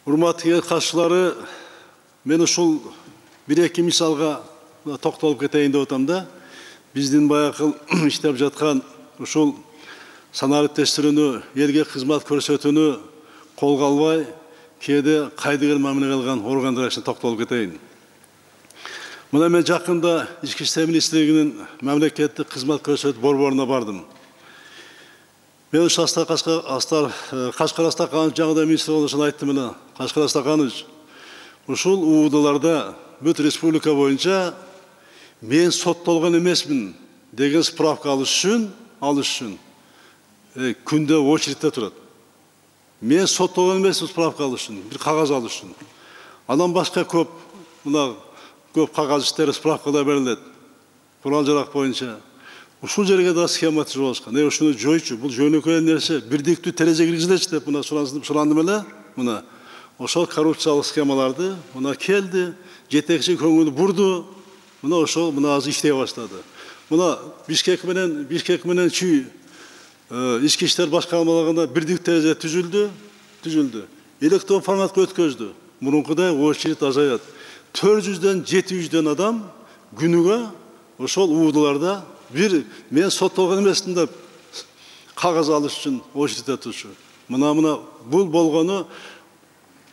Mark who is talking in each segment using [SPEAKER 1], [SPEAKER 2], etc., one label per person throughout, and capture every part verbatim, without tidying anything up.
[SPEAKER 1] Урматтуу катышуулары, мен ушул бир-эки мисалга токтолуп кетейин деп атам да. Биздин баягы иштеп жаткан ушул санарип тештирүүнү, элге кызмат көрсөтүүнү колго албай, кээде кайдыгер мамиле кылган органдар ишине токтолуп кетейин. Мына мен жакында Ички иштер министрлигинин мамлекеттик кызмат көрсөтүү борборуна бардым. Мен ушу Астар Кашкар Астаканович жаңыда министр болушун айттым эле. Кашкар Астаканович, ушул УУДларда бүт республика боюнча мен соттолгон эмесмин деген справка алыш үчүн, алыш үчүн күндө очередте турат. Мен соттолгон эмесмин справка алыш үчүн, бир кагаз алыш үчүн. Андан башка көп, мына көп кагаз иштери, справкалар берилет. Курал жарак боюнча. Ушул жерге да схема түзүп алышкан. Э, ушуну жойчу, бул жөнөкөй нерсе, бирдиктүү терезе киргизилечи деп мына сурандым эле. Мына ошол коррупциялык схемаларды мына келди, жетекчи көңүл бурду. Мына ошол мына азыр иштей баштады. Мына Бишкек менен Бишкек менен Чүй ички иштер башкармалыгында бирдиктүү терезе түзүлдү, түзүлдү. Электрон форматка өткөздү. Мурункудай очередь азаят. төрт жүздөн жети жүздөн адам күнүгө ошол УУДларда бир мен соттолгон эмесмин деп кагаз алыш үчүн очередте турчу. Мына мына бул болгону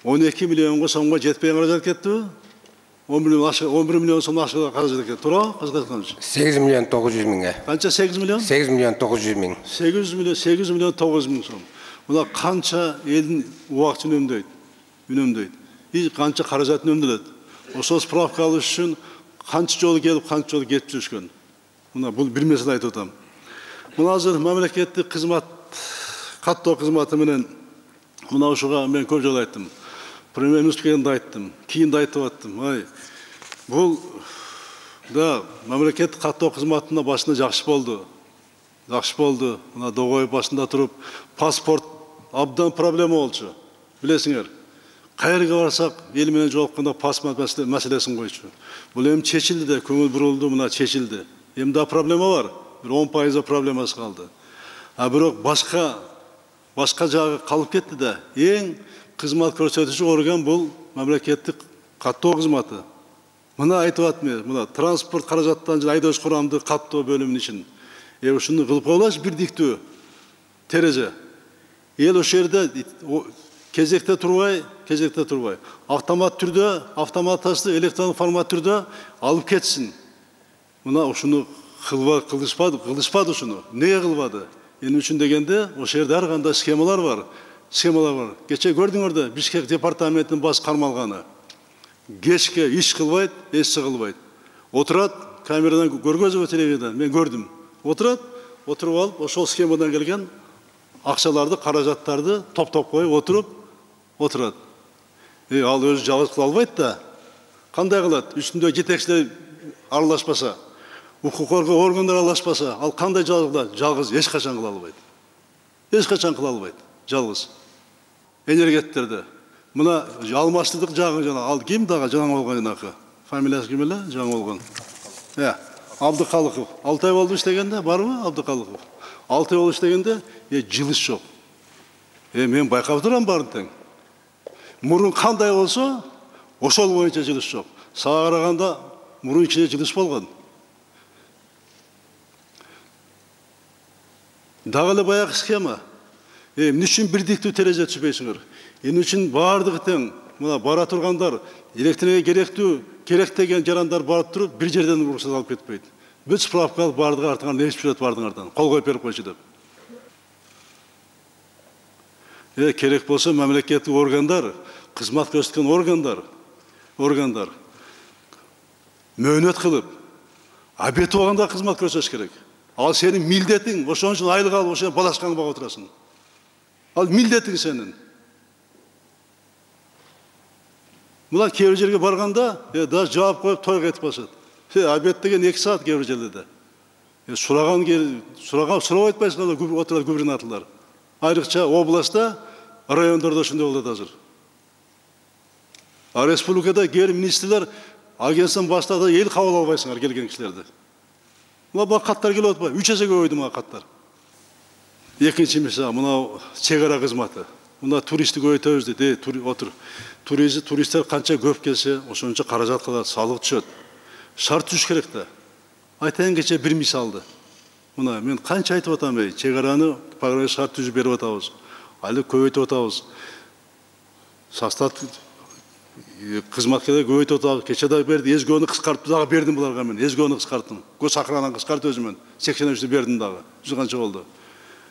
[SPEAKER 1] он эки миллионго сомго жетпей каражат кеттиби? он бир миллион сом ашыгы каражат кетти. Туура, Казакстан.
[SPEAKER 2] сегиз миллион тогуз жүз миңге.
[SPEAKER 1] Канча сегиз миллион?
[SPEAKER 2] сегиз миллион тогуз жүз миң.
[SPEAKER 1] сегиз миллион сегиз миллион тогуз жүз миң сом. Мына канча элдин убактын үнөмдөйт, үнөмдөйт. И канча каражат үнөмдөлөт. Ошол справка алыш үчүн канча жолу келип, канча жолу кетип жүрүшкөн. Мына бул бир месел айтып атам. Мына азыр мамлекеттик кызмат, каттоо кызматы менен мына ушуга мен көп жолу айттым. Премьер-министрге да айттым, кийин да айтып аттым. Ай, бул да мамлекеттик каттоо кызматына башында жакшы болду. Жакшы болду. Мына догой башында туруп, паспорт абдан проблема болчу. Билесиңер. Кайерге барсак, эл менен жолукканда паспорт маселесин койчу. Бул эми чечилди да, көңүл бурулду, мына чечилди. Эми да проблема бар. Бир он пайыз проблемасы калды. А бирок башка башка жагы калып кетти да. Эң кызмат көрсөтүүчү орган бул мамлекеттик каттоо кызматы. Мына айтып атмын, мына транспорт каражаттан жана айдоочу курамды каттоо бөлүмүнүн ишин. Э ушуну кылып коелачы бирдиктүү терезе. Эл ошол жерде кезекте турбай, кезекте турбай, автомат түрдө, автоматташты электрон формат түрдө алып кетсин. Мына ушуну кылышпады, кылышпады ушуну. Неге кылбады? Эмне үчүн дегенде, ошол жерде ар кандай схемалар бар. Схемалар бар. Кече көрдүңөр да, Бишкек департаментинин баш кармалганы. Кечке иш кылбайт, эч кылбайт. Отурат, камерадан көргөзүп телевизордон, мен көрдүм. Отурат, отуруп алып, ошол схемадан келген акчаларды, каражаттарды топтоп коюп отуруп, отурат. Э, ал өзү жалгыз кыла албайт да. Кандай кылат? Үстүндө жетекчилер аралашпаса, укук коргоо органдар аралашпаса, ал кандай жалгыз кылат? Жалгыз эч качан кыла албайт. Эч качан кыла албайт. Жалгыз. Энергеттерде. Мына алмаштыдык жагы жана ал ким дагы жаңы болгон жанакы? Фамилиясы ким эле? Жаңы болгон. Э, Абдыкалыков. алты ай болду иштегенде, барбы Абдыкалыков? алты ай болду иштегенде, э, жылыш жок. Э, мен байкап турам баарын тең. Мурун кандай болсо, ошол боюнча жылыш жок. Сага караганда мурун ичинде жылыш болгон. Дагы эле баягы схема. Э, эмне үчүн бирдиктүү терезе түзбөйсүңөр? Эмне үчүн баардыгы тең? Мына бара тургандар, электриге керектүү, керек деген жарандар барып туруп, бир жерден уруксат алып кетпейт. Бүт справка алып баардыгы артыңан нечип жүрөт баардыгыңардан. Кол коюп берип койчу деп. Э, керек болсо мамлекеттик органдар, кызмат көрсөткөн органдар, органдар мөөнөт кылып, обед болгондо кызмат көрсөтүш керек. Ал сенин милдетиң, ошон үчүн айлык алып, ошон балашкаңды багып отурасың. Ал милдетиң сенин. Мына кээ бир жерге барганда, э, да жаап коюп тойго кетип калышат. Э, обед деген эки саат кээ бир жерлерде. Э, сураган сураган сурап айтпайсыңар, отурат губернаторлор. Айрыкча областта, райондордо ошондой болот азыр. А республикада кээ бир министрлер агенттин баштады, эл кабыл албайсыңар келген кишилерди. Мына бак каттар келип атпайбы? үч эсе көбөйдү мына каттар. Экинчи мисал, мына чек ара кызматы. мына туристти көбөйтөбүз дейт. Отур. Туризм туристтер канча көп келсе, ошончо каражат калат, салык түшөт. Шарт түзүш керек да. Айтайын кече бир мисалды. Мына мен канча айтып атам, эй, чек араны программа шарт түзүп берип атабыз. Али көбөйтүп атабыз. Состав кызматкерлер көбөйтүп атабыз. Кече да берди, эзгөнү кыскартып дагы бердим буларга мен. Эзгөнү кыскарттым. Гос охрананы кыскартып өзүмөн. сексен үчтү бердим дагы. жүз канча болду.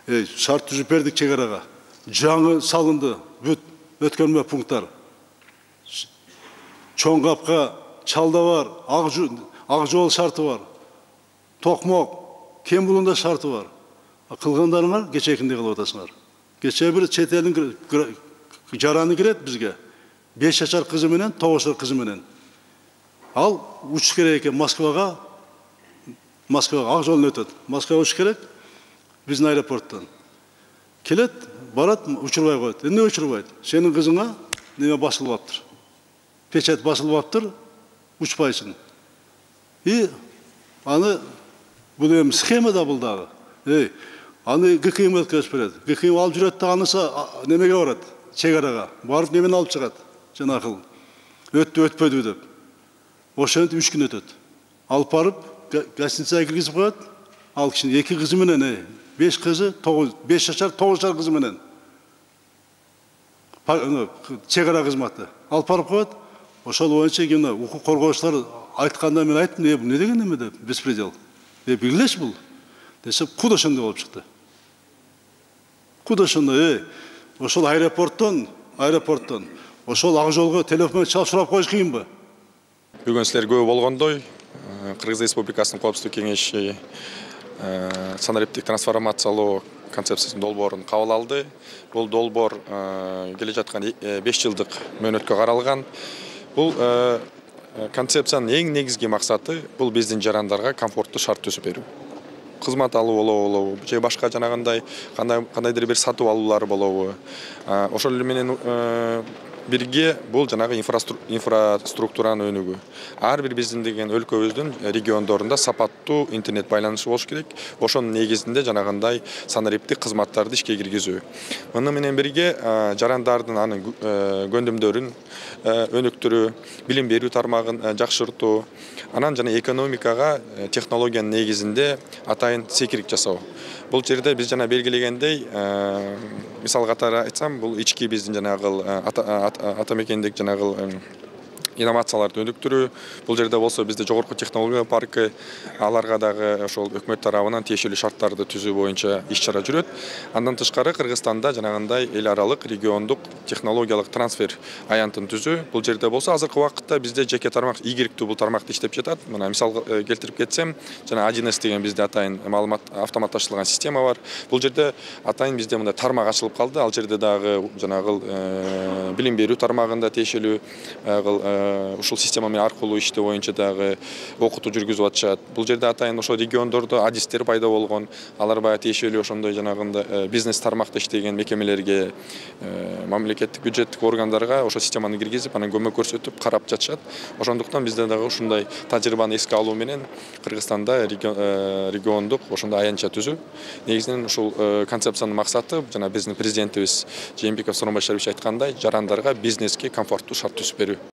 [SPEAKER 1] Эй, шарт түзүп бердик чек арага. Жаңы салынды. Бүт өткөрмө пункттар. Чоң капка, чалда бар, ак жол шарты бар. Токмок, кем булунда шарты бар. Кылгандарыңар кечекинде кылып атасыңар. Кече бир чет элдин жараны кирет бизге. беш жашар кызы менен, тогуз жашар кызы менен. Ал учуш керек экен Москвага. Москвага ак жолдон өтөт. Москвага учуш керек биздин аэропорттон. Келет, барат, учурбай коет. Эмне учурбайт? Сенин кызыңа неме басылып аптыр. Печать басылып аптыр, учпайсың. И аны бул эми схема да бул дагы. Эй, аны ГКМ өткөрүп берет. ГКМ алып жүрөт да анысы немеге барат? Чек арага. Барып немени алып чыгат? Жанакыл. Өттү, өтпөдү деп. Ошентип үч күн өтөт. Алып барып гостиницага киргизип коет. Ал кишинин эки кызы менен, эй, беш кызы, тогуз, беш жашар, тогуз жашар кызы менен. Чек ара кызматы. Алып барып коет. Ошол боюнча кийин укук коргоочулар айтканда мен айттым, бул не деген эме деп, беспредел. Э, билгилеш бул. Десе, куда ошондой болуп чыкты. Куда ошондой, э, ошол аэропорттон, аэропорттон, ошол ак жолго телефон чалып сурап коюш кыйынбы?
[SPEAKER 3] Бүгүн силер көп болгондой, Кыргыз Республикасынын Коопсуздук кеңеши санариптик трансформациялоо концепциясынын долбоорун кабыл алды. Бул долбоор келе жаткан беш жылдык мөөнөткө каралган. Бул концепциянын эң негизги максаты бул биздин жарандарга комфорттуу шарт түзүп берүү. Кызмат алуу болобу, же башка жанагындай кандайдыр бир сатып алуулар болобу. Ошол менен бирге бул жанагы инфраструктуранын өнүгүү. Ар бир биздин деген өлкөбүздүн региондорунда сапаттуу интернет байланышы болуш керек. Ошонун негизинде жанагындай санариптик кызматтарды ишке киргизүү. Муну менен бирге жарандардын анын көндүмдөрүн өнүктүрүү, билим берүү тармагын жакшыртуу, анан жана экономикага технологиянын негизинде атайын секирик жасоо. Бул жерде биз жана белгилегендей, мисал катары айтсам, бул ички биздин жанагыл ата мекендик жанагыл инновацияларды өнүктүрүү. Бул жерде болсо бизде жогорку технология паркы, аларга дагы ошол өкмөт тарабынан тиешелүү шарттарды түзүү боюнча иш-чара жүрөт. Андан тышкары Кыргызстанда жанагындай эл аралык региондук технологиялык трансфер аянтын түзүү. Бул жерде болсо азыркы убакытта бизде жеке тармак ийгиликтүү бул тармакты иштеп жатат. Мына мисал келтирип кетсем, жана один эс деген бизде атайын маалымат автоматташтырылган система бар. Бул жерде атайын бизде мындай тармак ачылып калды. Ал жерде дагы жанагыл билим берүү тармагында тиешелүү ушул система менен аркылуу иштөө боюнча дагы окутуу жүргүзүп атышат. Бул жерде атайын ошо региондордо адистер пайда болгон. Алар баягы тиешелүү ошондой жанагындай бизнес тармакта иштеген мекемелерге, мамлекеттик бюджеттик органдарга ошо системаны киргизип, анан көмөк көрсөтүп, карап жатышат. Ошондуктан бизде дагы ушундай тажрыйбаны эске алуу менен Кыргызстанда региондук ошондой аянтча түзүү. Негизинен ушул концепциянын максаты жана биздин президентибиз Жээнбеков Сооронбай Шарипович айткандай, жарандарга бизнеске комфорттуу шарт түзүп берүү.